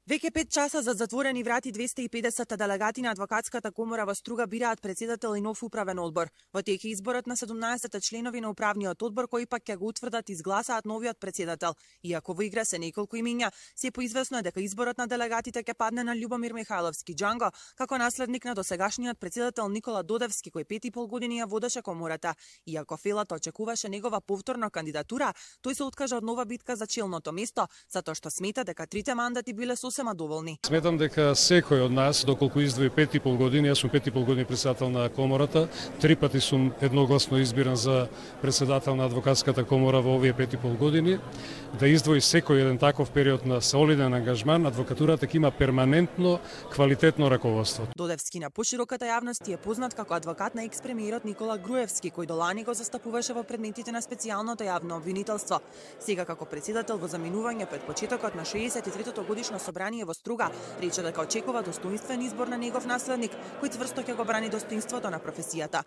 Веќе 5 часа за затворени врати 250 делегати на Адвокатската комора во Струга бираат председател и нов управен одбор. Во тек е изборот на 17 членови на управниот одбор кои пак ќе го утврдат и изгласаат новиот председател. Иако во игра се неколку имиња, се поизвестно е дека изборот на делегатите ќе падне на Љубомир Михајловски Џанго како наследник на досегашниот председател Никола Додевски кој 5,5 години ја водеше комората. Иако Фелата очекуваше негова повторна кандидатура, тој се откажа од нова битка за челното место, затоа што смета дека трите мандати биле доволни. Сметам дека секој од нас, доколку издвои 5,5 години, јас сум 5,5 години председател на комората, 3 пати сум едногласно избиран за председател на Адвокатската комора во овие 5,5 години, да издвои секој еден таков период на солиден ангажман, адвокатурата ќе има перманентно квалитетно раководство. Додевски на пошироката јавност е познат како адвокат на екс-премиерот Никола Груевски, кој до лани го застапуваше во предметите на специјалното јавно обвинителство. Сега како председател во заминување пред почетокот на 63-то годишно собрание во Струга, рече дека очекува достоинствен избор на негов наследник, кој цврсто ќе го брани достоинството на професијата.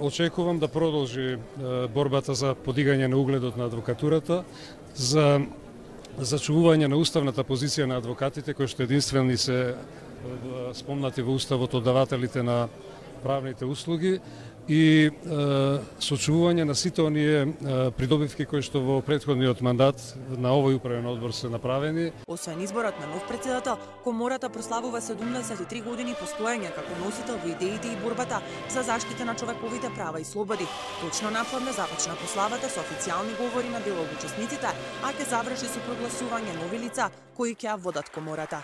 Очекувам да продолжи борбата за подигање на угледот на адвокатурата, за зачувување на уставната позиција на адвокатите, кои што единствени се спомнати во уставот од давателите на правните услуги и сочувување на сите оние придобивки кои што во претходниот мандат на овој управен одбор се направени. Освен изборот на нов председател, комората прославува 73 години постоење како носител во идеите и борбата за заштита на човековите права и слободи. Точно напладне започна прославата со официјални говори на дел од учесниците, а ќе заврши со прогласување нови лица кои ќе ја водат комората.